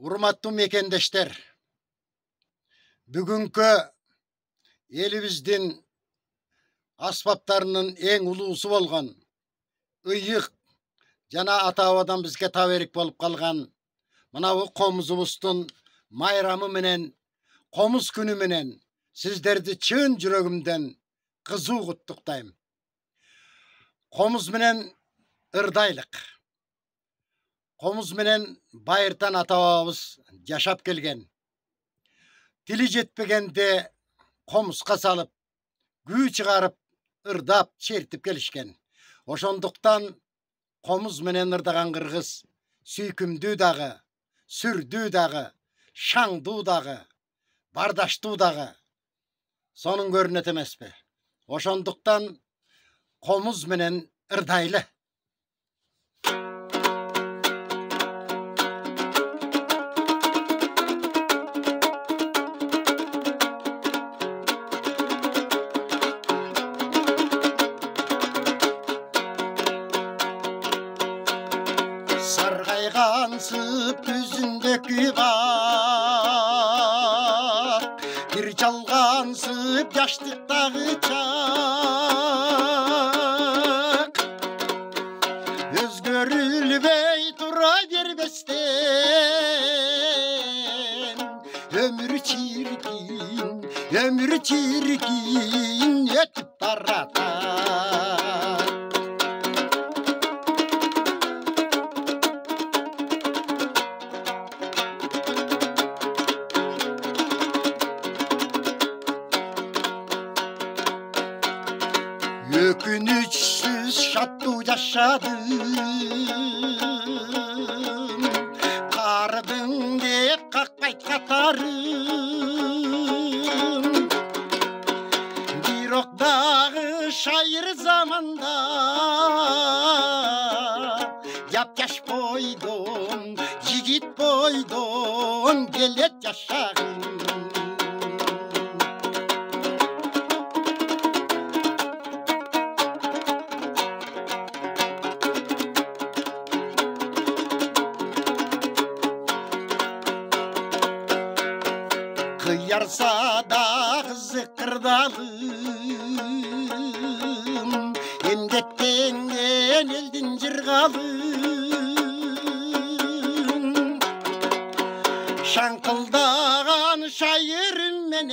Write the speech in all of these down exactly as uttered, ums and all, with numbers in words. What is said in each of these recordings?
Урматтуу мекендештер, бүгүнкү элибиздин аспаптарынын эң улуусу болгон ыйык жана ата-бабадан бизге таберик болуп калган мынабу комузубуздун майрамы менен, комуз күнү менен сиздерди чын жүрөгүмдөн кызуу куттуктайм. Комуз менен ырдайлык. Комуз менен байыртан ата-бабабыз жашап келген. Тили жетпегенде комузга салып, күү чыгарып, ырдап, чертип келишкен. Ошондуктан комуз менен ырдаган кыргыз сүйкүмдүү дагы, сүрдүү дагы, шаңдуу дагы, бардаштуу дагы. Сонун көрүнөт эмеспи? Ошондуктан комуз менен ырдайлы. Саргайгансып күзүндөгү бак, бир жалгансып жаштыктагы чак. Өзгөрүлбөй тура бербестен, өмүр чиркин, өмүр чиркин өтүп баратат. Өкүнүчсүз шаттуу жашадым, кардың деп какпайт катарым. Бирок дагы шайыр заманда жап-жаш бойдон, жигит бойдон келет жашагым. Кыярса да кызык кырдалым, эмгектенген элдин жыргалым. Шаңкылдаган шайырым менен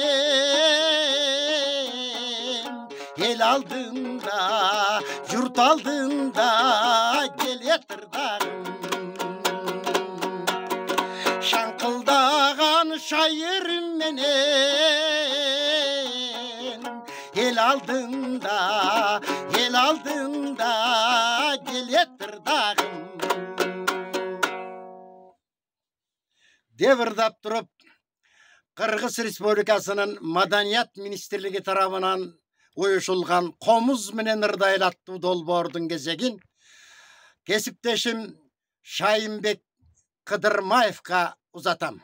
эл алдында, журт алдында келет ырдагым. Шаңкылдаган шайырым менен эл алдында, эл алдында келет ырдагым. Деп ырдап туруп, Кыргыз Республикасынын Маданият министрлиги тарабынан уюшулган комуз менен ырдайлы аттуу долбоордун кезегин кесиптешим Шайынбек Кыдырмаевка узатам.